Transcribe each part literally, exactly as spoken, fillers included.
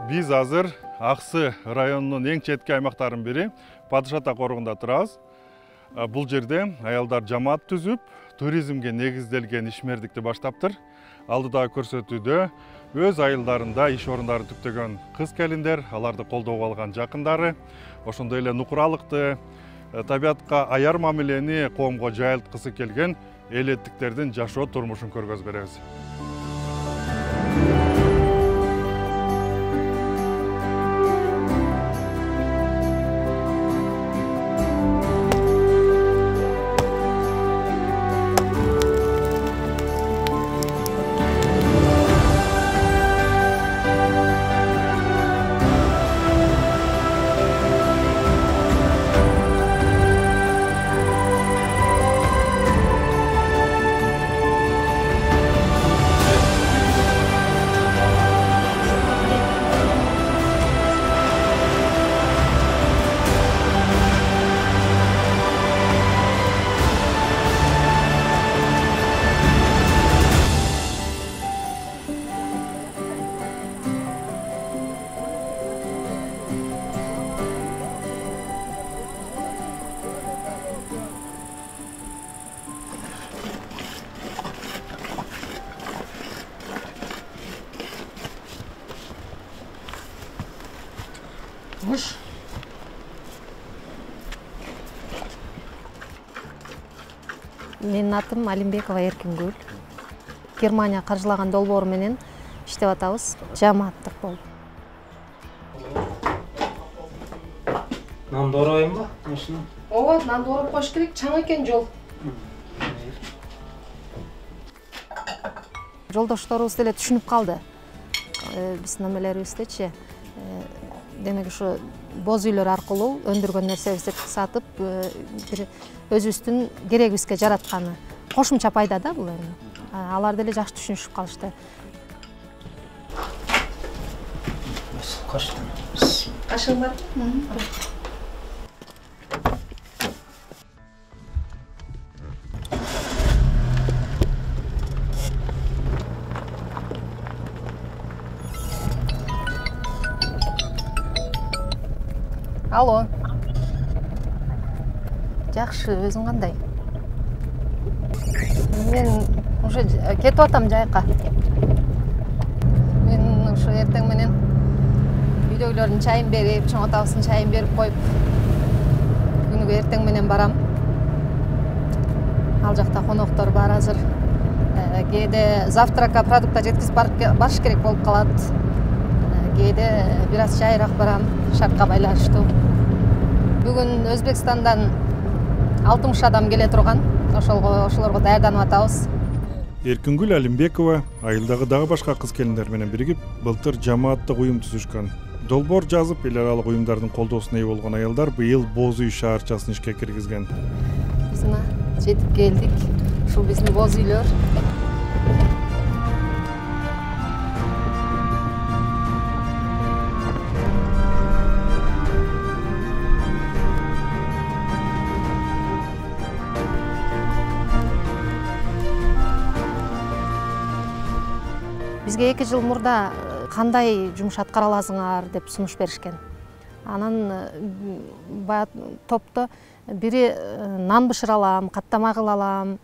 Биз азыр Аксы районунун эң четки аймактарынын бири Падыш Ата коргунда турабыз. Бул жерде аялдар жамаат түзүп, туризмге негизделген ишмердикти баштаптыр. Алдыдагы көрсөтүүдө өз айылдарында иш орундары түптөгөн кыз келиндер, аларды колдоого алган жакындары, ошондой эле нукуралыкты, табиатка аяр мамилени коомго жайылткысы келген элеттиктердин жашоо турмушун көргөзүп беребиз. Менин атым Алимбекова Эркингүл. Германия каржылаган долбоору менен иштеп атабыз, жамааттык болуп. Нанды орооймбу? Машина? Ооба, нанды ороп коюш керек, чаң экен жол. Жолдошторубуз деле түшүнүп калды. Биздин амелерибиздечи. Демек ушу боз үйлөр аркылуу өндүргөн нерсебизди сатып, бир өзүбүздүн керегибизге жаратканы кошумча пайда да бул эми. Алар деле жакшы түшүнүшүп калышты. Кашыгың барбы? Алло. Жакшы, өзүң кандай? Мен уже кетип атам жайка. Мен ушу эртең менен үйдөгүлөрдүн чайын берип, чоң атабыздын чайын берип коюп, күнүгө эртең менен барам. Ал жакта коноктор бар азыр. Кээде завтракка продукта жеткизип барыш керек болуп калат. Кээде бир аз жайыраак барам, шартка байланыштуу. Бүгүн Өзбекстандан алтымыш адам келе турган. Ошолго ошолорго даярданып атабыз. Эркингүл Алимбекова айылдагы дагы башка кыз келиндер менен биригип, былтыр жамааттык уюм түзүшкөн. Долбоор жазып, эл аралык уюмдардын колдоосуна ээ болгон аялдар быйыл Боз үй шаарчасын ишке киргизген. Биз мына жетип келдик. Ушул биздин боз үйлөр. Бизге эки жыл мурда кандай жумуш аткара аласыңар деп сунуш беришкен. Анан баягы топто бири нан бышыра алам, каттама кыла алам,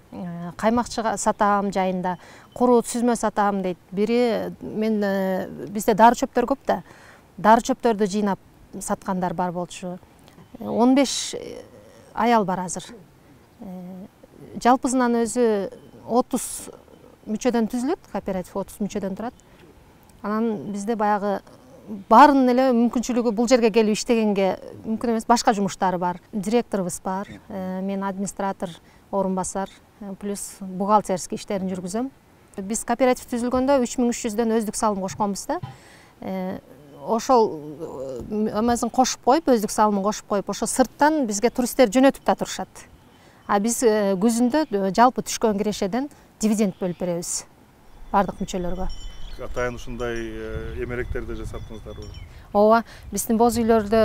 каймак сатам жайында, куру сүзмө сатам дейт. Бири мен бизде дары чөптөр көп да. Дары чөптөрдү жыйнап саткандар бар болчу. он беш аял бар азыр. Жалпысынан өзү отуз мүчөдөн түзүлөт, кооператив отуз мүчөдөн турат. Анан бизде баягы баарын эле мүмкүнчүлүгү бул жерге келип иштегенге мүмкүн эмес, башка жумуштары бар. Директорубуз бар, мен администратор, орун басар, плюс бухгалтерский иштерин жүргүзөм. Биз кооператив түзүлгөндө үч миң үч жүздөн өздүк салым кошконбуз да. Ошол эмесин кошуп коюп, өздүк салымын кошуп коюп, ошо сырттан бизге туристтер жөнөтүп да турушат. А биз күзүндө жалпы түшкөн кирешеден дивиденд бөлүп беребиз бардык мүчөлөргө. Атайын ушундай эмеректерди жасаттыңыздарбы? Ооба, биздин боз үйлөрдө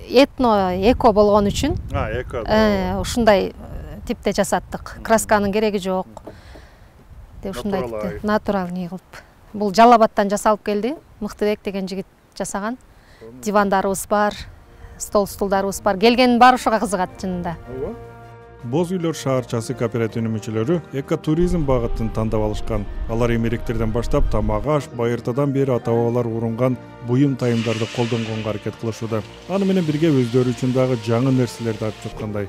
этно, эко болгон үчүн ушундай типте жасаттык. Красканын кереги жок. Деп ушундай типте натуральный кылып Бул Жалал Абадтан жасалып келди. Мыктыбек деген жигит жасаган. Дивандарыбыз бар, стол стулдарыбыз бар. Келгендин баары ушуга кызыгат чынында. Боз үйлөр шаарчасы кооперативинин мүчөлөрү экотуризм багытын тандап алышкан. Алар эмеректерден баштап тамак аш, байыртадан бери ата-бабалар урунган буюм тайымдарды колдонгонго аракет кылышууда. Аны менен бирге өздөрү үчүн дагы жаңы нерселерди ачып жаткандай.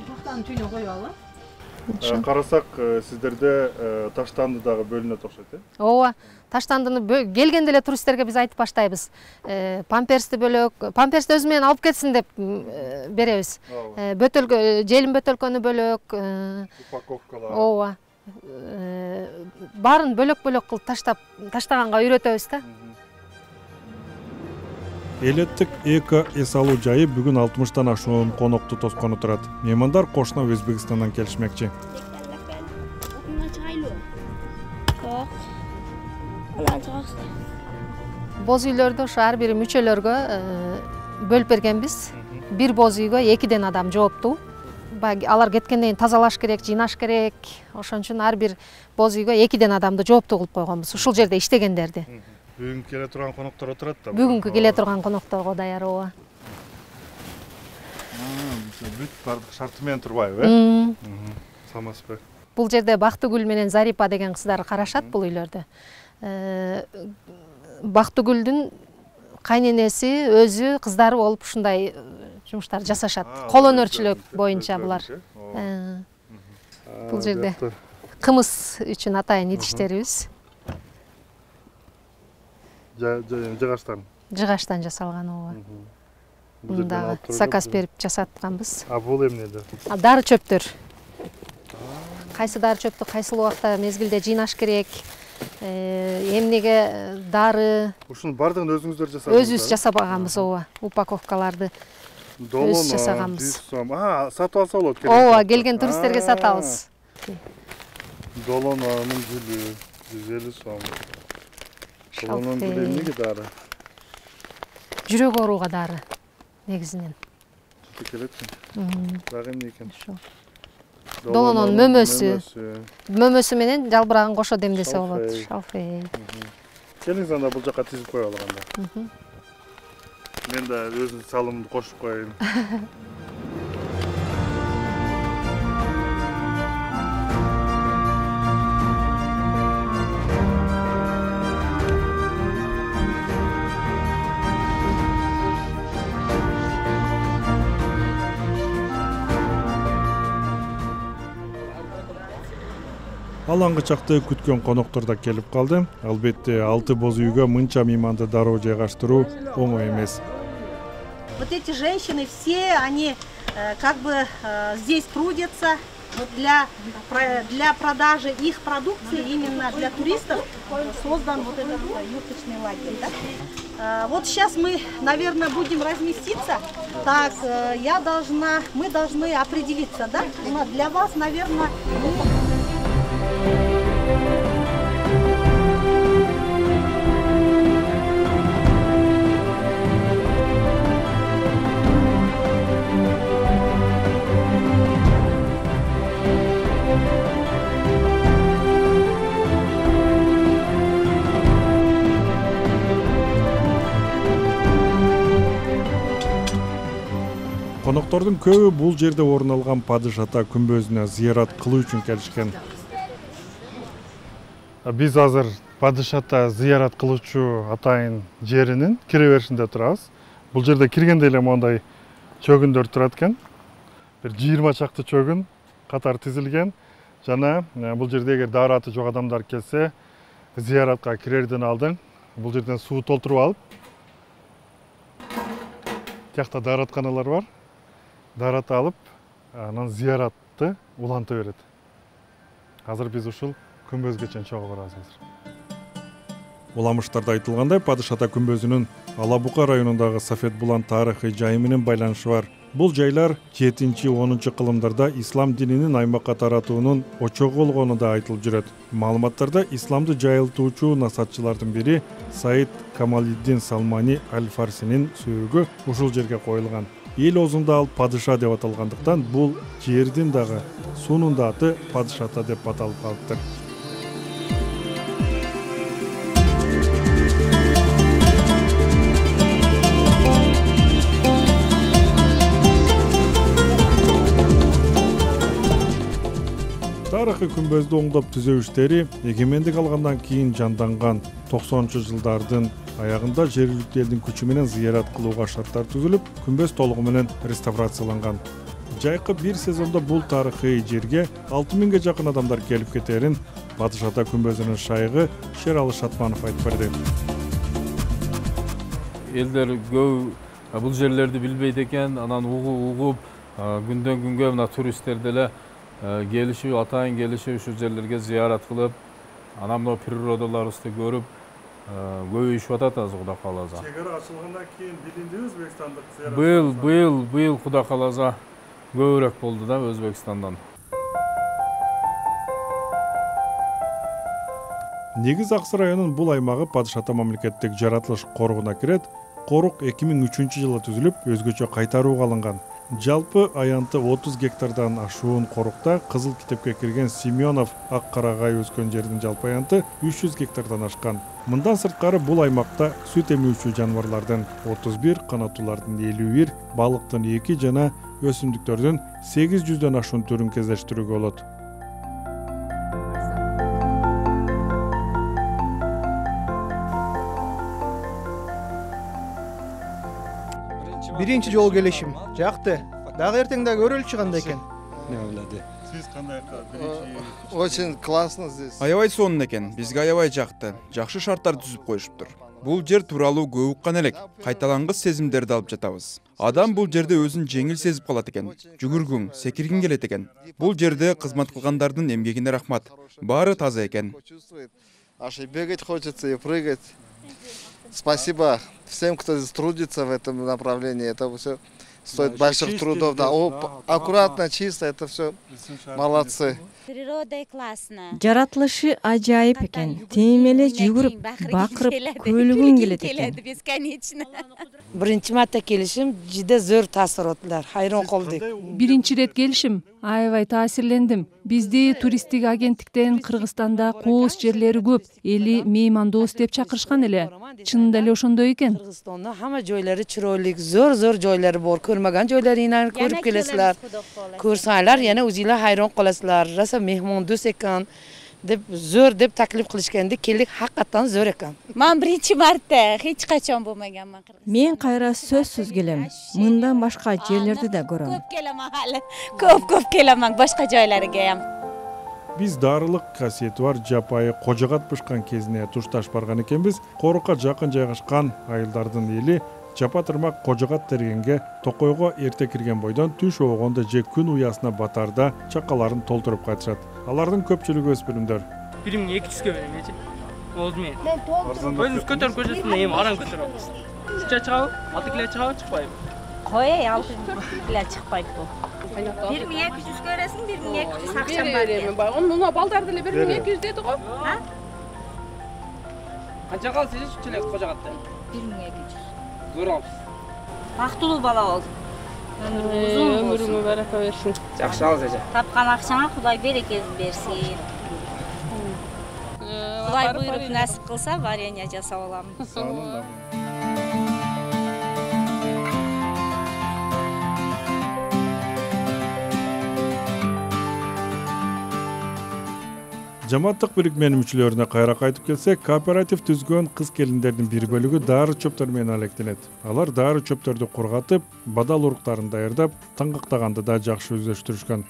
Бактан түйнө коюп алып. Карасак, сиздерде таштанды дагы бөлүнөт окшойт, э? Ооба, таштандыны келгенде эле туристтерге биз айтып баштайбыз. Памперсти бөлөк, памперсти өзү менен алып кетсин деп беребиз. Бөтөлкө, желим бөтөлкөнү бөлөк. Упаковкалар. Ооба. Баарын бөлөк-бөлөк кылып таштап, таштаганга үйрөтөбүз да. Элеттик эко эс алуу жайы бүгүн алтымыштан ашуун конокту тоскону турат. Меймандар кошуна Өзбекстандан келишмекчи. Боз үйлөрдө ошо ар бир мүчөлөргө бөлүп бергенбиз. Бир боз үйгө экиден адам жооптуу. Алар кеткенден кийин тазалаш керек, жыйнаш керек. Ошон үчүн ар бир боз үйгө экиден адамды жооптуу кылып койгонбуз. Ушул жерде иштегендерди. Бүгүн келе турган коноктор отурат да. Бүгүнкү келе турган конокторго даяр ооба. Бүт бардык шарты менен турбайбы, э? Самаспы. Бул жерде Бактыгүл менен Зарипа деген кыздар карашат бул үйлөрдө. Бактыгүлдүн кайненеси өзү кыздары болуп ушундай жумуштар жасашат. Кол өнөрчүлүк боюнча булар. Бул жерде кымыз үчүн атайын идиштерибиз. Жыгачтан. Жыгачтан жасалган ооба. Муну дагы заказ берип жасатканбыз. А бул эмнеде? Дары чөптөр. Кайсы дары чөптү кайсыл убакта мезгилде жыйнаш керек. Эмнеге дары. Ушунун бардыгын өзүңүздөр жасадыңыздар? Өзүбүз жасабаганбыз ооба. Упаковкаларды өзүбүз жасаганбыз. А, сатып алса болот керек. Ооба, келген туристтерге сатабыз. Долононун гүлү жүз элүү сом. Долононун гүлү эмнеге дары? Жүрөк ооруга дары негизинен. Келетпи? Дагы эмне экен? Долононун мөмөсү. Мөмөсү менен жалбырагын кошо демдесе болот. Шалфей. Келиңиз анда бул жака тизип коелу анда. Мен да өзүм салымымды кошуп коеюн. Алаңгы чакты күткөн коноктор да келип калды. Албетте алты боз үйгө мынча мейманды дароо жайгаштыруу оңой эмес. Вот эти женщины все, они как бы здесь трудятся для для продажи их продукции, именно для туристов создан вот этот юрточный лагерь. Да? Вот сейчас мы, наверное, будем разместиться. Так, я должна, мы должны определиться, да? Для вас, наверное. Коноктордун көбү бул жерде орун алган Падыш ата күмбөзүнө зыярат кылуу үчүн келишкен. Биз азыр Падыш ата зыярат кылуучу атайын жеринин кире беришинде турабыз. Бул жерде киргенде эле мондай чөгүндөр турат экен. Бир жыйырма чакты чөгүн катар тизилген. Жана бул жерде эгер даараты жок адамдар келсе, зыяратка кирерден алдын бул жерден суу толтуруп алып, тиякта дааратканалар бар. Даарат алып, анан зыяратты уланта берет. Азыр биз ушул күмбөзгө чейин чогуу барабыз азыр. Уламыштарда айтылгандай, Падыш ата күмбөзүнүн Ала Бука районундагы Сафет Булан тарыхый жайы менен байланышы бар. Бул жайлар жетинчи онунчу кылымдарда ислам дининин аймакка таратуунун очогу болгону да айтылып жүрөт. Маалыматтарда исламды жайылтуучу насатчылардын бири Саид Камалиддин Салмани Аль-Фарсинин сөөгү ушул жерге коюлган. Эл оозунда ал падыша деп аталгандыктан бул жердин дагы суунун да аты Падыш ата деп аталып калыптыр. Тарыхый күмбөздү оңдоп түзөө иштери эгемендик алгандан кийин жанданган. токсонунчу жылдардын аягында жергиликтүү элдин күчү менен зыярат кылууга шарттар түзүлүп, күмбөз толугу менен реставрацияланган. Жайкы бир сезондо бул тарыхый жерге алты миңге жакын адамдар келип кетерин Батыш Ата күмбөзүнүн шайыгы Шералы Шатманов айтып берди. Элдер көп бул жерлерди билбейт экен, анан угуп, күндөн күнгө мына туристтер деле келишип, атайын келишип, ушу жерлерге зыярат кылып, анан мына природаларыбызды көрүп, көбөйүшүп атат азыр Кудай кааласа. Чек ара ачылгандан кийин билинди өзбекстандык зыярат. Быйыл, быйыл, быйыл Кудай кааласа көбүрөөк болду да Өзбекстандан. Негиз Аксы районунун бул аймагы Батыш Ата мамлекеттик жаратылыш коругуна кирет. Корук эки миң үчүнчү жылы түзүлүп, өзгөчө кайтарууга алынган. Жалпы аянты отуз гектардан ашуун корукта Кызыл китепке кирген Семенов ак карагай өскөн жердин жалпы аянты үч жүз гектардан ашкан. Мындан сырткары бул аймакта сүт эмүүчү жаныбарлардын отуз бир, канаттуулардын элүү бир, балыктын эки жана өсүмдүктөрдүн сегиз жүздөн ашуун түрүн кездештирүүгө болот. Биринчи жолу келишим жакты. Дагы эртең да көрөлчү кандай экен. Сиз кандай биринчи? Очень классно здесь. Аябай сонун экен. Бизге аябай жакты. Жакшы шарттар түзүп коюшуптур. Бул жер тууралуу көп уккан элек. Кайталангыс сезимдерди алып жатабыз. Адам бул жерде өзүн жеңил сезип калат экен. Жүгүргүң, секиргиң келет экен. Бул жерде кызмат кылгандардын эмгегине рахмат. Баары таза экен. Аж и бегать хочется, и прыгать. Спасибо всем, кто здесь трудится в этом направлении. Это все стоит больших трудов. Да, аккуратно, чисто, это все молодцы. Природа классная. Жаратылышы ажайып экен. Тем эле жүгүрүп, бакырып, көйлөгүң келет экен. Бесконечно. Биринчи марта келишим жиде зор таасираттар. Хайран калдык. Биринчи рет келишим аябай таасирлендим. Бизди туристтик агенттиктен Кыргызстанда кооз жерлери көп, эли меймандоос деп чакырышкан эле. Чынында эле ошондой экен. Кыргызстанда хамма жойлары чыройлук, зор-зор жойлары бар. Көрмөгөн жойларын көрүп келесилер. Көрсөңөр, яна өзүлөр хайран каласыздар. Раса мehmondос экен деп зор деп таклиф кылышканды келдик, хакыктан зор экен. Мен биринчи марта эч качан болмаганмын. Мен кайра сөзсүз келем. Мындан башка жерлерди да көрөм. Көп келем хали. Көп-көп келем башка жойларга ham. Биз дарылык касиети бар жапайы кожогат бышкан кезине тушташ барган экенбиз. Корукка жакын жайгашкан айылдардын эли жапа тырмак кожогат тергенге токойго эрте кирген бойдон түш оогондо же күн уясына батарда чакаларын толтуруп кайтышат. Алардын көпчүлүгү өспүрүмдөр. бир миң эки жүзгө берем эчи. Болду мен. Өзүңүз көтөрүп көрсөтсүң, эми арам көтөрөм. Үччө чыгабы? алты кило чыгабы, чыкпайбы? Кой, алты кило чыкпайт бул. бир миң эки жүз көрөсүң, бир миң эки жүз акчам бар. Берем бар. Муну балдар деле бир миң эки жүз деди го. Ha? Канча калды сиз үч эле кожогатта? бир миң эки жүз. Зор алыпсыз. Бактылуу бала бол. Өмүрүңө барака берсин. Жакшы алыңыз эже. Тапкан акчаңа Кудай берекесин берсин. Кудай буйруп насип кылса, варенье жасап алам. Жамааттык бирикменин мүчөлөрүнө кайра кайтып келсек, кооператив түзгөн кыз келиндердин бир бөлүгү дары чөптөр менен алектенет. Алар дары чөптөрдү кургатып, бадал уруктарын даярдап, таңгактаганды да жакшы өздөштүрүшкөн.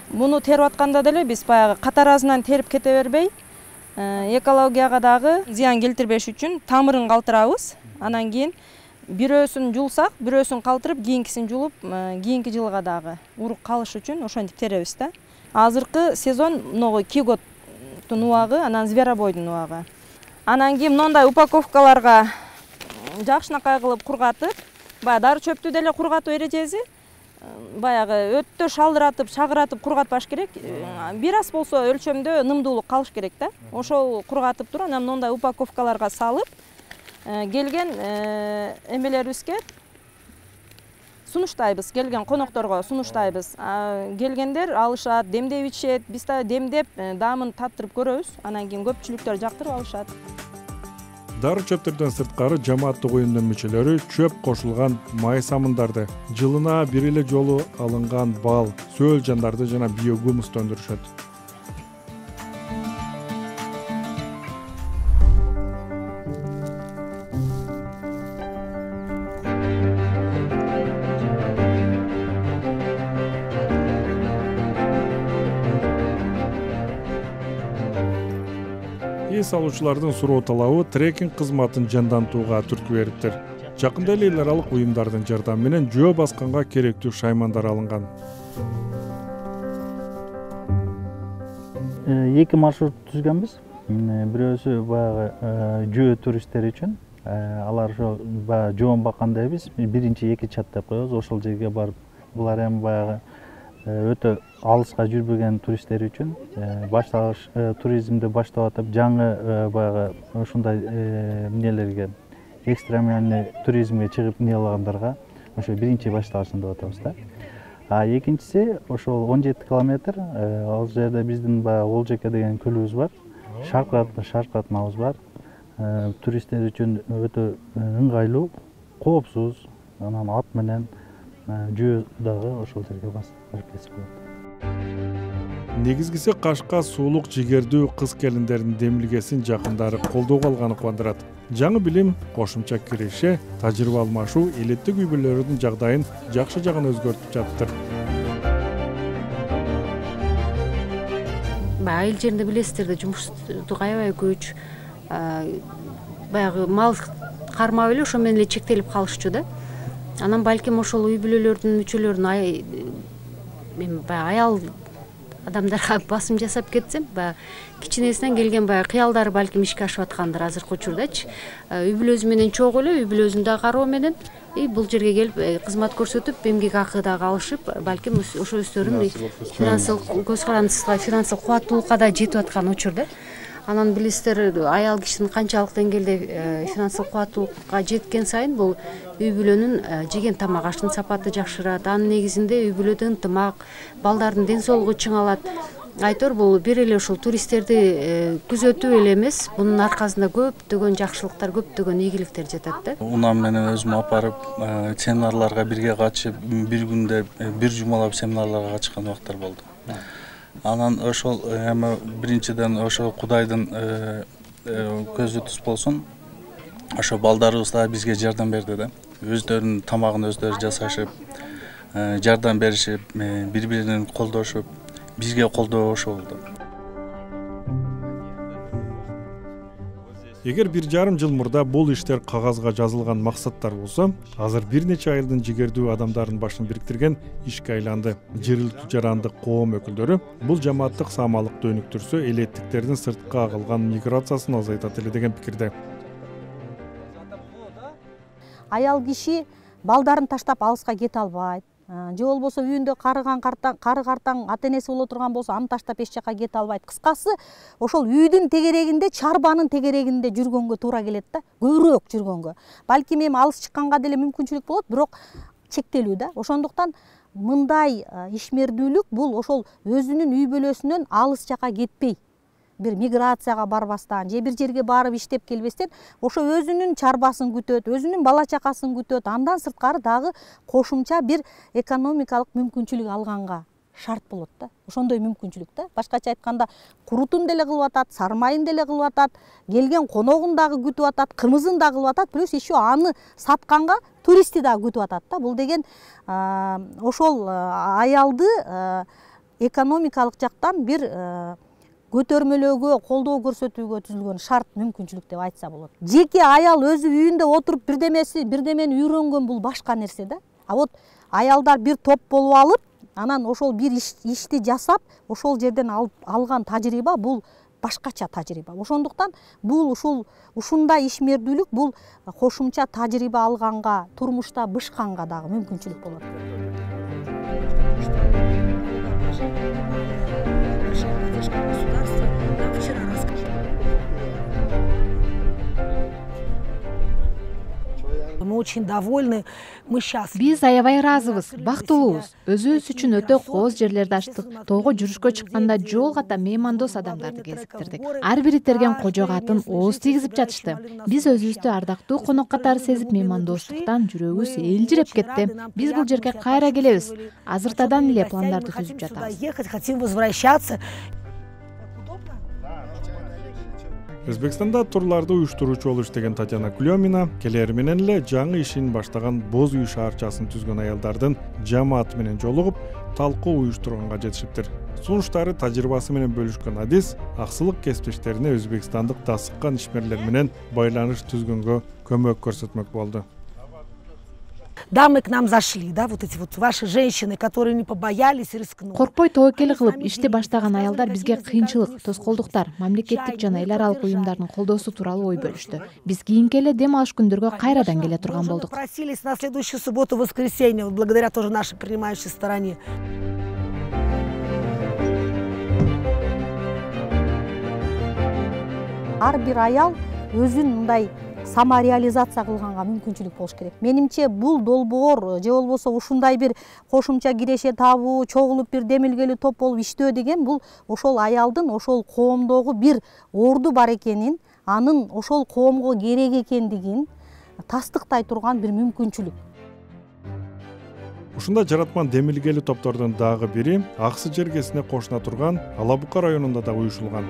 Муну терип атканда деле биз баягы катаразынан терип кете бербей, экологияга дагы зыян келтирбеш үчүн тамырын калтырабыз. Анан кийин бирөөсүн жулсак, бирөөсүн калтырып, кийинкисин жулуп, кийинки жылга дагы урук калыш үчүн ошентип теребиз да. Азыркы сезон могу киготтун убагы, анан зверобойдун убагы. Анан кийин мындай упаковкаларга жакшынакай кылып кургатып, баягы дары чөптү деле кургатуу эрежеси, баягы өттө шалдыратып, чагыратып кургатпаш керек. Бир аз болсо өлчөмдө нымдуулук калыш керек да. Ошол кургатып туруп, анан мындай упаковкаларга салып, келген эмелерибизге сунуштайбыз, келген конокторго сунуштайбыз. Келгендер алышат, демдеп ичет, биз да демдеп, даамын таттырып көрөбүз. Анан кийин көпчүлүктөр жактырып алышат. дары чөптөрдөн сырткары жамааттык уюмдун мүчөлөрү чөп кошулган май самындарды, жылына бир эле жолу алынган бал, сөөл жандарды жана биогумусты өндүрүшөт. Эс алуучулардын суроо талабы трекинг кызматын жандантууга түрткү бериптир. Жакында эле эл аралык уюмдардын жардамы менен жөө басканга керектүү шаймандар алынган. Эки маршрут түзгөнбүз. Бирөөсү баягы жөө туристтери үчүн. Алар ошо баягы жоон бакканда биз биринчи эки чат деп коебуз. Ошол жерге барып, булар эми баягы өтө алыска жүрбөгөн туристтер үчүн баштагыч туризмди баштап атып, жаңы баягы ушундай эмнелерге, экстремальный туризмге чыгып эмне кылгандарга ошо биринчи баштагычын деп атабыз да. А экинчиси ошол он жети километр, ал жерде биздин баягы Олжеке деген көлүбүз бар. Шаркат, шаркатмабыз бар. Туристтер үчүн өтө ыңгайлуу, коопсуз, анан ат менен жөө дагы ошол жерге барып кетсе болот. Негизгиси Кашка суулук жигердүү кыз келиндердин демилгесин жакындары колдоого алганы кубандырат. Жаңы билим, кошумча киреше, тажрыйба алмашуу элеттик үй бүлөлөрдүн жагдайын жакшы жагына өзгөртүп жатыптыр. Айыл жеринде билесиздер да, жумуштук аябай көч, баягы мал кармап эле ошо менен эле чектелип калышчу да. Анан балким ошол үй бүлөлөрдүн мүчөлөрүн мен баягы аял адамдарга басым жасап кетсем, баягы кичинесинен келген баягы кыялдары балким ишке ашып аткандыр азыркы учурдачы. Үй бүлөсү менен чогуу эле, үй бүлөсүн да кароо менен бул жерге келип кызмат көрсөтүп, эмгек акы дагы алышып, балким ошо өздөрүнүн финансылык көз карандысына, финансылык кубаттуулукка да жетип аткан учур да. Анан билесиздер, аял кишинин канчалык деңгээлде финансылык кубаттуулукка жеткен сайын бул үй бүлөнүн жеген тамак аштын сапаты жакшырат. Анын негизинде үй бүлөдө ынтымак, балдардын ден соолугу чыңалат. Айтор бул бир эле ушул туристтерди күзөтүү эле эмес, бунун аркасында көптөгөн жакшылыктар, көптөгөн ийгиликтер жатат да. Унам менен өзүм апарып, семинарларга бирге катышып, бир күндө бир жумалап семинарларга катышкан убактар болду. Анан ошол эми биринчиден ошо Кудайдын көзү туз болсун. Ошо балдарыбыз да бизге жардам берди да. Өздөрүнүн тамагын өздөрү жасашып, жардам беришип, бири-бирин колдошуп, бизге колдоо ошо болду. Эгер бир жарым жыл мурда бул иштер кагазга жазылган максаттар болсо, азыр бир нече айылдын жигердүү адамдарын башын бириктирген ишке айланды. Жергиликтүү жарандык коом өкүлдөрү бул жамааттык саамалыкты өнүктүрсө, элеттиктердин сыртка калган миграциясын азайтат эле деген пикирде. Аял киши балдарын таштап алыска кете албайт. Же болбосо үйүндө карыган картаң, кары картаң ата энеси боло турган болсо, аны таштап эч жака кете албайт. Кыскасы, ошол үйдүн тегерегинде, чарбанын тегерегинде жүргөнгө туура келет да, көбүрөөк жүргөнгө. Балким эми алыс чыкканга деле мүмкүнчүлүк болот, бирок чектелүү да. Ошондуктан мындай ишмердүүлүк бул ошол өзүнүн үй бүлөсүнөн алыс жака кетпей, бир миграцияга барбастан, же бир жерге барып иштеп келбестен, ошо өзүнүн чарбасын күтөт, өзүнүн бала чакасын күтөт, андан сырткары дагы кошумча бир экономикалык мүмкүнчүлүк алганга шарт болот да. Ошондой мүмкүнчүлүк да. Башкача айтканда, курутун деле кылып атат, сармайын деле кылып атат, келген коногун дагы күтүп атат, кымызын дагы кылып атат, плюс еще аны сатканга туристти дагы күтүп атат да. Бул деген ошол аялды экономикалык жактан бир көтөрмөлөөгө, колдоо көрсөтүүгө түзүлгөн шарт мүмкүнчүлүк деп айтса болот. Жеке аял өзү үйүндө отуруп бирдемеси, бирдемени үйрөнгөн бул башка нерсе да. А вот аялдар бир топ болуп алып, анан ошол бир ишти жасап, ошол жерден алган тажрыйба бул башкача тажрыйба. Ошондуктан бул ушул ушундай ишмердүүлүк бул кошумча тажрыйба алганга, турмушта бышканга дагы мүмкүнчүлүк болот. мы очень довольны, мы счастливы. Биз аябай ыраазыбыз, бактылуубуз. Өзүбүз үчүн өтө кооз жерлерди ачтык. Тоого жүрүшкө чыкканда жол ката меймандос адамдарды кезиктирдик. Ар бири терген кожо катын ооз тийгизип жатышты. Биз өзүбүздү ардактуу конок катары сезип, меймандостуктан жүрөгүбүз элжиреп кетти. Биз бул жерге кайра келебиз. Азыртадан эле пландарды түзүп жатабыз. Хотим возвращаться. Өзбекстанда турларды уюштуруучу болуп иштеген Татьяна Клёмина келери менен эле жаңы ишин баштаган Боз үй шаарчасын түзгөн аялдардын жамааты менен жолугуп, талкуу уюштурганга жетишиптир. Сунуштары, тажрыйбасы менен бөлүшкөн Адис аксылык кесиптештерине өзбекстандык дасыккан ишмерлер менен байланыш түзгөнгө көмөк көрсөтмөк болду. Дамы к нам зашли, да, вот эти вот ваши женщины, которые не побоялись и рискнули. Коркпой тобокел кылып ишти баштаган аялдар бизге кыйынчылык, тоскоолдуктар, мамлекеттик жана эл аралык уюмдардын колдоосу тууралуу ой бөлүштү. Биз кийинки эле дем алыш күндөргө кайрадан келе турган болдук. Просились на следующую субботу, воскресенье, благодаря тоже нашей принимающей стороне. Ар бир аял өзүн мындай самореализация кылганга мүмкүнчүлүк болуш керек. Менимче бул долбоор же болбосо ушундай бир кошумча киреше табуу, чогулуп бир демилгелүү топ болуп иштөө деген бул ошол аялдын ошол коомдогу бир орду бар экенин, анын ошол коомго керек экендигин тастыктай турган бир мүмкүнчүлүк. Ушундай жараткан демилгелүү топтордун дагы бири Аксы жергесине кошуна турган Алабука районунда да уюшулган.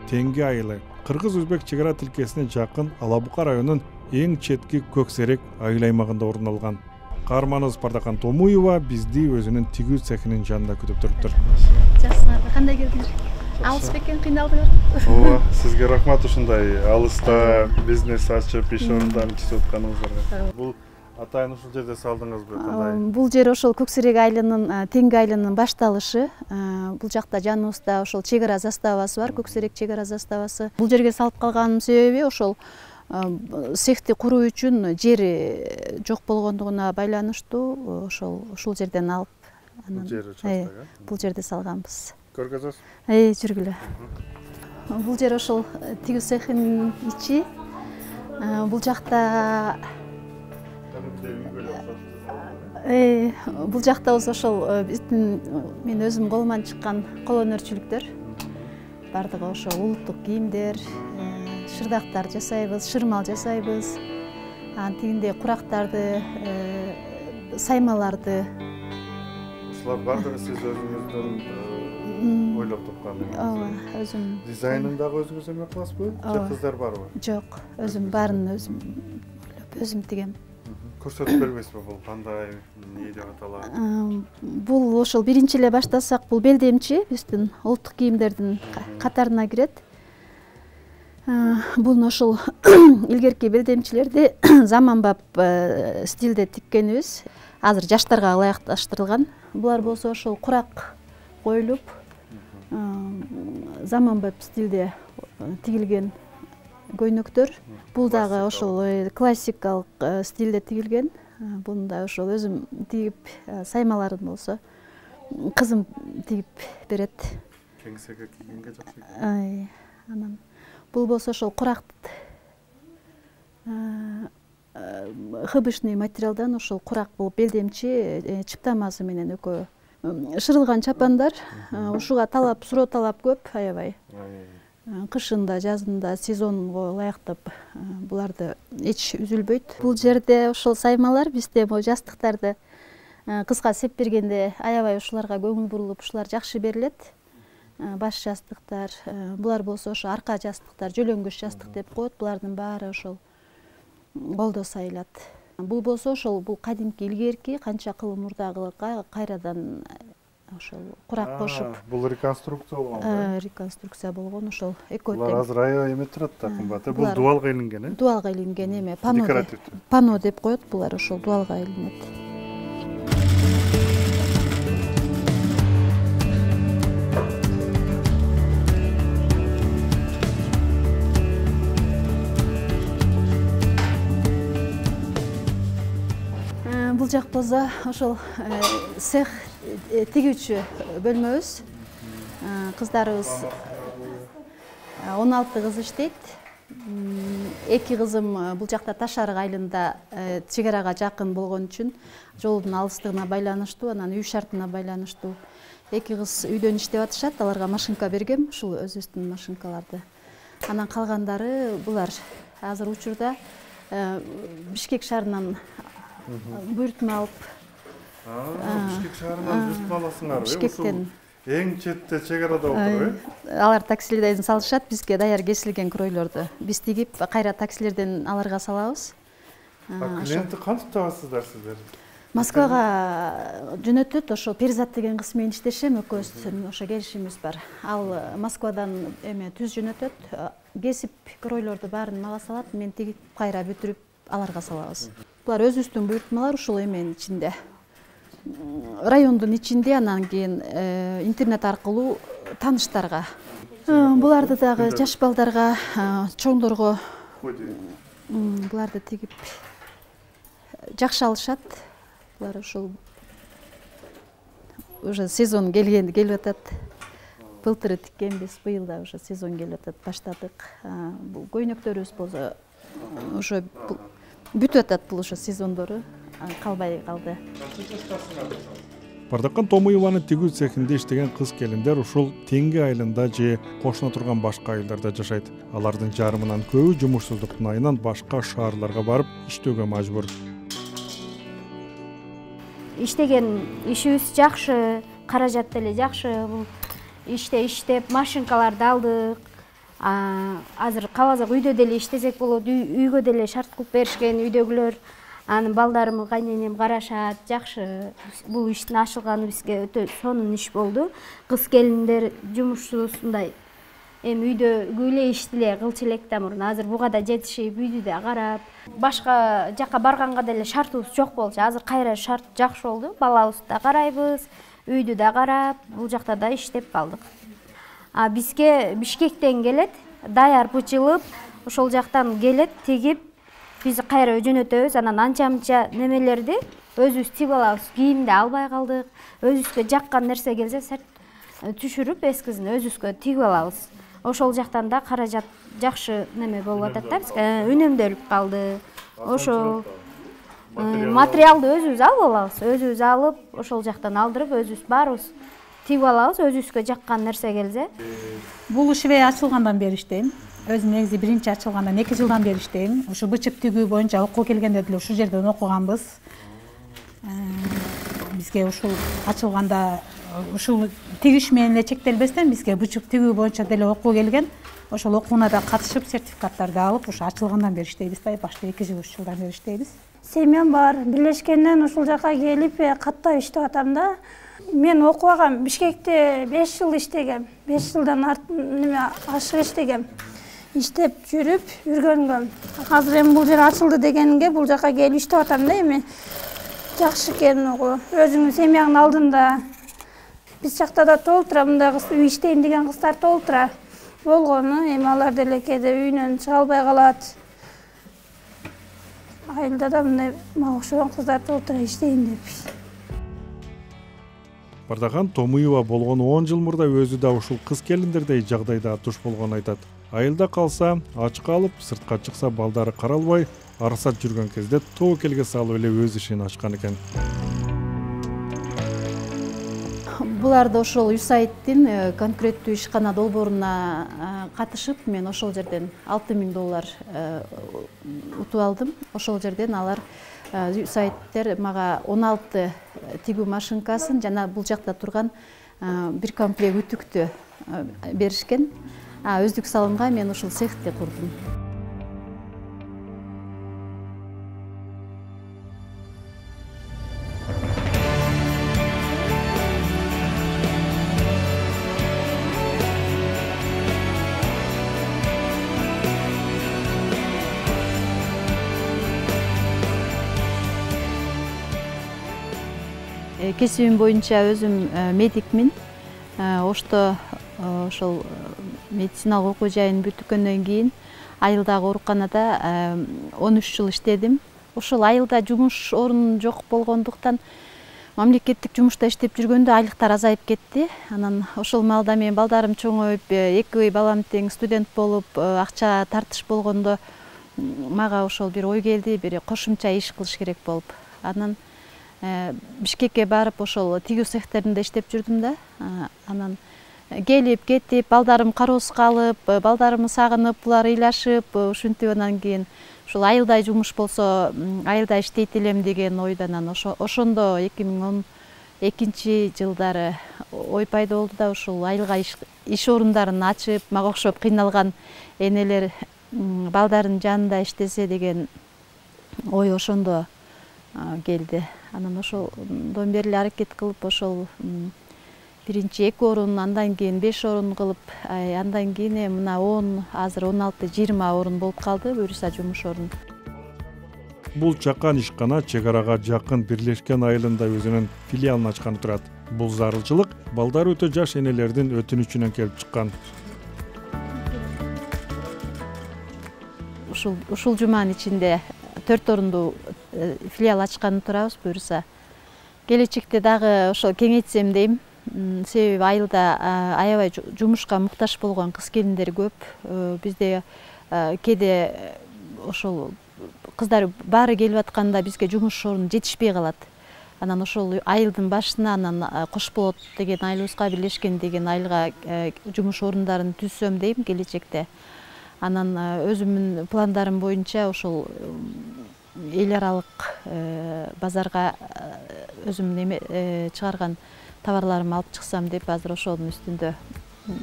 Теңги айылы кыргыз-өзбек чек ара тилкесине жакын Алабука районунун эң четки Көксерек айыл аймагында орун алган. Каарманыбыз Пардакан Томуева бизди өзүнүн тигүү цехинин жанында күтүп туруптур. Жакшысыңарбы, кандай келдиңер? Алыс бекен, кыйналдыңарбы? Ооба, сизге рахмат ушундай алыста бизнес ачып, иш орундарын түзүп атканыңыздарга. Бул атайын ушул жерде салдыңызбы, кандай? Бул жер ошол Көксерек айылынын, Теңги айылынын башталышы. Бул жакта жаныбызда ошол чек ара заставасы бар, Көксерек чек ара заставасы. Бул жерге салып калганымдын себеби ошол цехти куруу үчүн жери жок болгондугуна байланыштуу ошол ушул жерден алып, бул жер участок, бул жерде салганбыз. Көргөзөсүз? Эй, жүргүлө. Бул жер ошол тигүү цехинин ичи. Бул жакта Э, бул жакта ошол биздин мен өзүм колуман чыккан кол өнөрчүлүктөр. Бардыгы ошол улуттук кийимдер, шырдактар жасайбыз, шырмал жасайбыз. Анан тигиндей курактарды, саймаларды. Ушулар бардыгы сиз өзүңүздүн ойлоп тапкан. Ооба, өзүм. Дизайнын дагы өзүңүз эме кыласызбы? Же кыздар барбы? Жок, өзүм баарын өзүм өзүм тигем. Көрсөтүп бербейсизби бул кандай, эмне деп аталат? Бул ошол биринчи эле баштасак, бул белдемчи биздин улуттук кийимдердин катарына кирет. Бул ошол илгерки белдемчилерди заманбап стилде тиккенибиз. Азыр жаштарга ылайыкташтырылган. Булар болсо ошол курак коюлуп, заманбап стилде тигилген көйнөктөр. Бул дагы ошол классикалык стилде тигилген. Буну да ошол өзүм тигип, саймаларын болсо кызым тигип берет. Кеңсеге кийгенге жакшы. Ай, анан бул болсо ошол курак хыбышный материалдан ошол курак бул белдемчи чыптамасы менен экөө шырылган чапандар. Ушуга талап, суроо талап көп, аябай. Кышында, жазында, сезонго ылайыктап буларды эч үзүлбөйт. Бул жерде ошол саймалар бизде бул жастыктарды кызга сеп бергенде аябай ушуларга көңүл бурулуп, ушулар жакшы берилет. Баш жастыктар, булар болсо ошо арка жастыктар, жөлөңгүч жастык деп коет. Булардын баары ошол колдо сайылат. Бул болсо ошол бул кадимки илгерки канча кыл мурдагы кайрадан ошол курак кошуп. Бул реконструкция болгон. Реконструкция болгон ошол экөө тең. Булар азыр аябай эме турат да, кымбат. Бул дуалга илинген, э? Дуалга илинген эме, пано. Пано деп коет булар, ошол дуалга илинет. Бул жак болсо ошол цех тигүүчү бөлмөбүз. Кыздарыбыз он алты кыз иштейт. Эки кызым бул жакта Таш арык айылында чек арага жакын болгон үчүн жолдун алыстыгына байланыштуу, анан үй шартына байланыштуу эки кыз үйдөн иштеп атышат. Аларга машинка бергем, ушул өзүбүздүн машинкаларды. Анан калгандары булар азыр учурда Бишкек шаарынан буйртма алып. Бишкек шаарынан буйртма аласыңарбы? Бишкектен. Эң четте чек арада отуруп, э? Алар таксилерден салышат, бизге даяр кесилген кройлорду. Биз тигип, кайра таксилерден аларга салабыз. Клиентти кантип табасыздар сиздер? Москвага жөнөтөт, ошо Перизат деген кыз менен иштешем, экөөбүздүн ошо келишимибиз бар. Ал Москвадан эме түз жөнөтөт, кесип кройлорду баарын мага салат, мен тигип кайра бүтүрүп аларга салабыз. Булар өзүбүздүн буйртмалар, ушул эменин ичинде. Райондун ичинде, анан кийин интернет аркылуу тааныштарга. Буларды дагы жаш балдарга, чоңдорго буларды тигип жакшы алышат. Булар ушул уже сезон келген келип атат. Былтыры тиккенбиз, быйыл да уже сезон келип атат, баштадык. Бул көйнөктөрүбүз болсо уже бүтүп атат, бул ошо сезондору калбай калды. Бардакан Томуеванын тигүү цехинде иштеген кыз келиндер ушул Теңге айылында же кошуна турган башка айылдарда жашайт. Алардын жарымынан көбү жумушсуздуктун айынан башка шаарларга барып иштөөгө мажбур. Иштеген ишибиз жакшы, каражат деле жакшы. Бул иште иштеп машинкаларды алдык. Азыр кааласак үйдө деле иштесек болот, үйгө деле шарт кылып беришкен үйдөгүлөр. Анын балдарым, кайненем карашат, жакшы. Бул иштин ачылганы бизге өтө сонун иш болду. Кыз келиндер жумушсузундай эми үйдө күйлө иштиле, кылчу элек да мурун. Азыр буга да жетишип, үйдү да карап, башка жака барганга деле шартыбыз жок болчу. Азыр кайра шарт жакшы болду. Балабызды да карайбыз, үйдү да карап, бул жакта да иштеп калдык. А бизге Бишкектен келет, даяр бычылып, ошол жактан келет, тигип, биз кайра жөнөтөбүз. Анан анча-мынча немелерди өзүбүз тигип алабыз. Кийимди албай калдык. Өзүбүзгө жаккан нерсе келсе, сарт түшүрүп, эскизин өзүбүзгө тигип алабыз. Ошол жактан да каражат жакшы неме болуп атат да бизге. Үнөмдөлүп калды. Ошо материалды өзүбүз алып алабыз. Өзүбүз алып, ошол жактан алдырып, өзүбүз баарыбыз тигип алабыз, өзүбүзгө жаккан нерсе келсе. Бул ишибе ачылгандан бери иштейм. Өзүм негизи биринчи ачылгандан эки жылдан бери иштейм. Ушу бычык тигүү боюнча окууга келгенде деле ушул жерден окуганбыз. Бизге ушул ачылганда ушул тигиш менен эле чектелбестен бизге бычык тигүү боюнча деле окуу келген. Ошол окууна да катышып, сертификаттарды алып, ушу ачылгандан бери иштейбиз да, башта эки жыл үч жылдан бери иштейбиз. Семьям бар, бирлешкенден ушул жака келип каттап иштеп атам да. Мен окугам Бишкекте беш жыл иштегем. беш жылдан арт неме ашык иштегем. Иштеп жүрүп, жүргөнгөм. Азыр эми бул жер ачылды дегенге бул жака келип иштеп атам да эми. Жакшы экен угу. Өзүңүн семьяңдын алдында. Биз жакта да толтура, мындай кыз үй иштейм деген кыздар толтура. Болгону эми алар деле кээде үйүнөн чыга албай калат. Айылда да мындай мага окшогон кыздар толтура иштейин деп. Бардакан Томуева болгону он жыл мурда өзү да ушул кыз келиндердей жагдайда туш болгонун айтат. Айылда калса, ач калып, сыртка чыкса балдары каралбай, арсат жүргөн кезде тобокелге салып эле өз ишин ачкан экен. Буларды ошол ЮСАИДтин конкреттүү ишкана долбооруна катышып, мен ошол жерден алты миң доллар утуп алдым. Ошол жерден алар ЮСАИДтер мага он алты тигүү машинкасын жана бул жакта турган бир комплект үтүктү беришкен. Өздүк салымга мен ушул цехти курдум. кесибим боюнча өзүм медикмин. Ошто ошол медициналык окуу жайын бүткөндөн кийин айылдагы ооруканада он үч жыл иштедим. Ошол айылда жумуш орун жок болгондуктан мамлекеттик жумушта иштеп жүргөндө айлыктар азайып кетти. Анан ошол маалда мен балдарым чоңоюп, эки балам тең студент болуп, акча тартыш болгондо мага ошол бир ой келди, бир кошумча иш кылыш керек болуп. Анан Бишкекке барып ошол тигүү цехтеринде иштеп жүрдүм да. Анан келип кетип, балдарым кароосуз калып, балдарымды сагынып, булар ыйлашып, ушинтип анан кийин ушул айылдай жумуш болсо, айылда иштейт элем деген ойдон анан ошондо эки миң он экинчи жылдары ой пайда болду да, ушул айылга иш орундарын ачып, мага окшоп кыйналган энелер балдарын жанында иштесе деген ой ошондо келди. Анан ошондон бери эле аракет кылып ошол биринчи эки орун, андан кийин беш орун кылып, андан кийин мына он, азыр он алты жыйырма орун болуп калды, буюрса жумуш орун. Бул чакан ишкана чек арага жакын Бирлешкен айылында өзүнүн филиалын ачканы турат. Бул зарылчылык балдары өтө жаш энелердин өтүнүчүнөн келип чыккан. Ушул ушул жуманын ичинде төрт орунду филиал ачканы турабыз, буюрса келечекте дагы ошо кеңейтсем дейм. Себеби айылда аябай жумушка муктаж болгон кыз келиндер көп. Бизде кээде ошол кыздар баары келип атканда бизге жумуш орун жетишпей калат. Анан ошол айылдын башына анан Кош болот деген айылыбызга, Бирлешкен деген айылга жумуш орундарын түзсөм дейм келечекте. Анан өзүмдүн пландарым боюнча ошол эл аралык базарга өзүм неме чыгарган товарларымды алып чыксам деп азыр ошонун үстүндө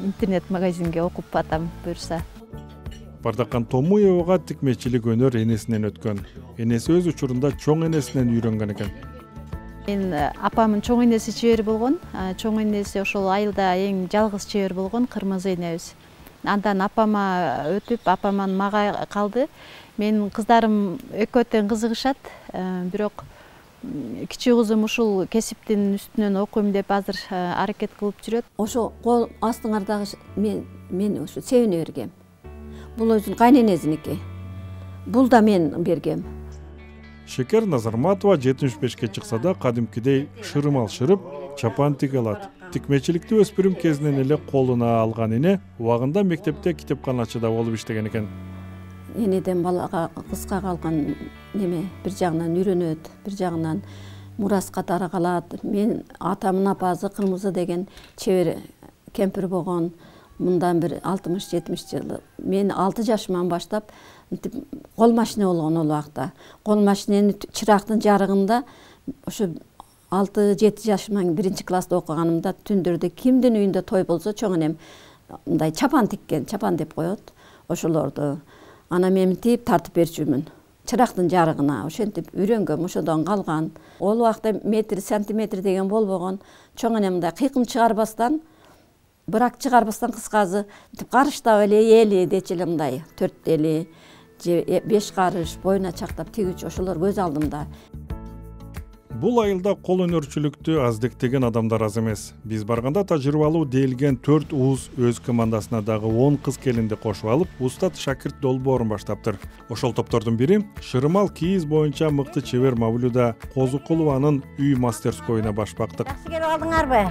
интернет магазинге окуп атам, буюрса. Бардакан Томуевага тикмечилик өнөр энесинен өткөн. Энеси өз учурунда чоң энесинен үйрөнгөн экен. Мен апамдын чоң энеси чебер болгон. Чоң энеси ошол айылда эң жалгыз чебер болгон, Кырмызы энебиз. Андан апама өтүп, апаман мага калды. Менин кыздарым экөө тең кызыгышат, бирок кичүү кызым ушул кесиптин үстүнөн окуйм деп азыр аракет кылып жүрөт. Ошо кол астыңардагы мен мен ошо себине бергем. Бул өзүнүн кайненесиники. Бул да мен бергем. Шекер Назарматова жетимиш бешке чыкса да кадимкидей шырым алшырып, чапан тиге алат. Тикмечиликти өспүрүм кезинен эле колуна алган эне убагында мектепте китепканачы да болуп иштеген экен. Энеден балага кызга калган неме бир жагынан үйрөнөт, бир жагынан мураска таргалат. Мен атамдын апасы Кырмызы деген чебер кемпир болгон. Мындан бир алтымыш жетимиш жылы. Мен алты жашыман баштап кол машина болгон ол убакта. Кол машинени чырактын жарыгында ошо алты жети жашыман биринчи класста окуганымда түндөрдө кимдин үйүндө той болсо чоң энем мындай чапан тиккен, чапан деп коет. Ошолорду ана мен тип тартып берчүмүн. Чырактын жарыгына ошентип үйрөнгөм, ошодон калган. Ол убакта метр сантиметр деген болбогон. Чоң энем мындай кыйкым чыгарбастан, бырак чыгарбастан кыскасы карыштап эле эли дечи эле мындай төрт эли же беш карыш боюна чактап тигүүчү ошолор көз алдымда. Бул айылда кол өнөрчүлүктү аздектеген адамдар аз эмес. Биз барганда тажрыйбалуу делген төрт уус өз командасына дагы он кыз келинди кошуп алып, устат шакирт долбоорун баштаптыр. Ошол топтордун бири Шырымал кийиз боюнча мыкты чебер Мавлюда Козукулованын үй мастерскойуна баш бактык. Жакшы келип алдыңарбы?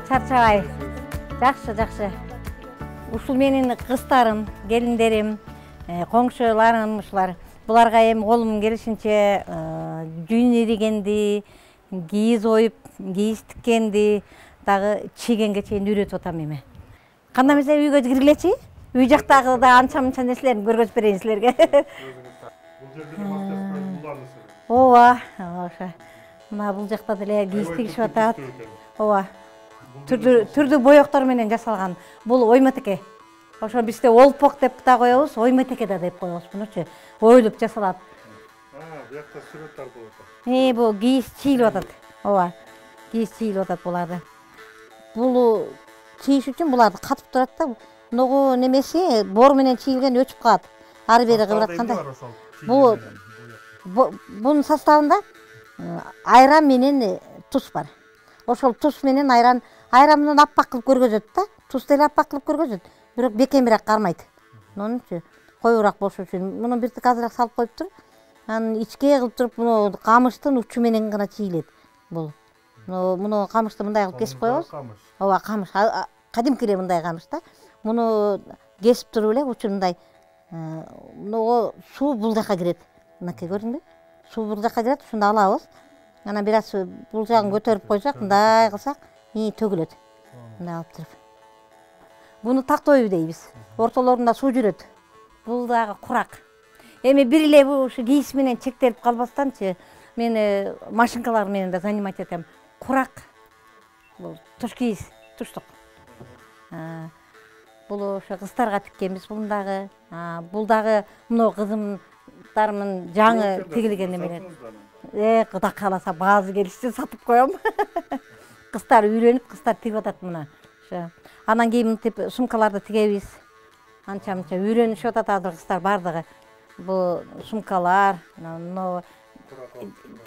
Чарчабай. Жакшы, жакшы. Ушул менин кыздарым, келиндерим, коңшуларым ушулар. Буларга эми колум келишинче жүйүн иригенди, кийиз оюп, кийиз тиккенди, дагы чийгенге чейин үйрөтүп атам эми. Кандай эмесе үйгө киргилечи? Үй жактагы да анча-мынча нерселерин көргөзүп берейин силерге. Ооба, ошо. Мына бул жакта деле кийиз тигишип атат. Ооба. Түрдүү түрдүү боектор менен жасалган. Бул оймотеке. Ошо бизде олпок деп да коебуз, оймотеке да деп коебуз. Мунучу оюлуп жасалат. А, буякта сүрөт тартылып атат. Э, бул кийиз чийилип атат. Ооба. Кийиз чийилип атат буларды. Бул чийиш үчүн буларды катып турат да, ногу немеси бор менен чийилген өчүп калат. Ары бери кыбыратканда. Бул бунун составында айран менен туз бар. ошол туз менен айран айран менен аппак кылып көргөзөт да, туз деле аппак кылып көргөзөт, бирок бекемирээк кармайт. Онунчу коюураак болуш үчүн муну биртик азыраак салып коюптур. Анан ичке кылып туруп муну камыштын учу менен гана чийилет бул. Муну муну камышты мындай кылып кесип коебуз. Ооба, камыш. Кадимки эле мындай камыш да. Муну кесип туруп эле учун мындай муну суу бул жака кирет. Мынакей көрдүңбү? Суу бул жака кирет, ушунда алабыз. Анан бир аз бул жагын көтөрүп койсок, мындай кылсак, ии төгүлөт. Мындай алып туруп. Буну тактоо үй дейбиз. Ортолорунда суу жүрөт. Бул дагы курак. Эми бир эле ушу кийиз менен чектелип калбастанчы, мен машинкалар менен да занимать этем. Курак. Бул туш кийиз, туштук. Бул ошо кыздарга тиккенбиз буну дагы. Бул дагы мына кызымдарымдын жаңы тигилген немелер. Э, Кудай кааласа баазы келишти сатып коем. Кыздар үйрөнүп, кыздар тигип атат мына. Ошо. Анан кийин мынтип сумкаларды тигебиз. Анча-мынча үйрөнүшүп атат азыр кыздар бардыгы. Бул сумкалар, мына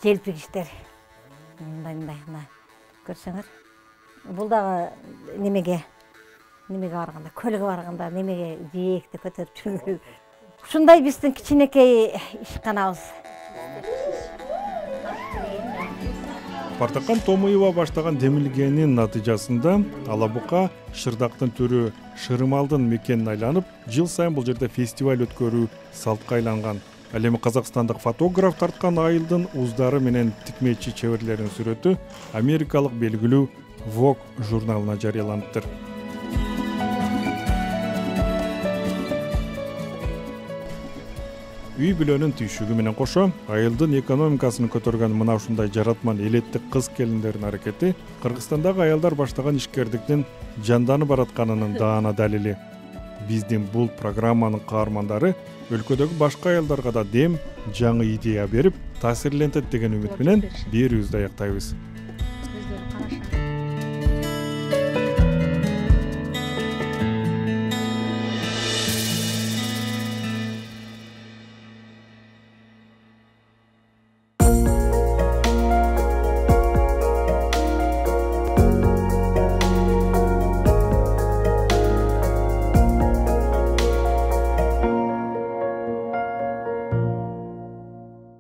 желпигиштер. Мындай-мындай, мына. Көрсөңөр. Бул дагы немеге, немеге барганда, көлгө барганда немеге жээкти көтөрүп жүргөн. Ушундай биздин кичинекей ишканабыз. Партакан Томуева баштаган демилгенин натыйжасында Алабука шырдактын түрү Шырымалдын мекенин айланып, жыл сайын бул жерде фестиваль өткөрүү салтка айланган. Ал эми казакстандык фотограф тарткан айылдын уздары менен тикмечи чеберлеринин сүрөтү америкалык белгилүү Vogue журналына жарыяланыптыр. Үй бүлөнүн түйшүгү менен кошо айылдын экономикасын көтөргөн мына ушундай жаратман элеттик кыз келиндердин аракети Кыргызстандагы аялдар баштаган ишкердиктин жанданып баратканынын даана далили. Биздин бул программанын каармандары өлкөдөгү башка аялдарга да дем, жаңы идея берип, таасирлентет деген үмүт менен берүүбүздү аяктайбыз.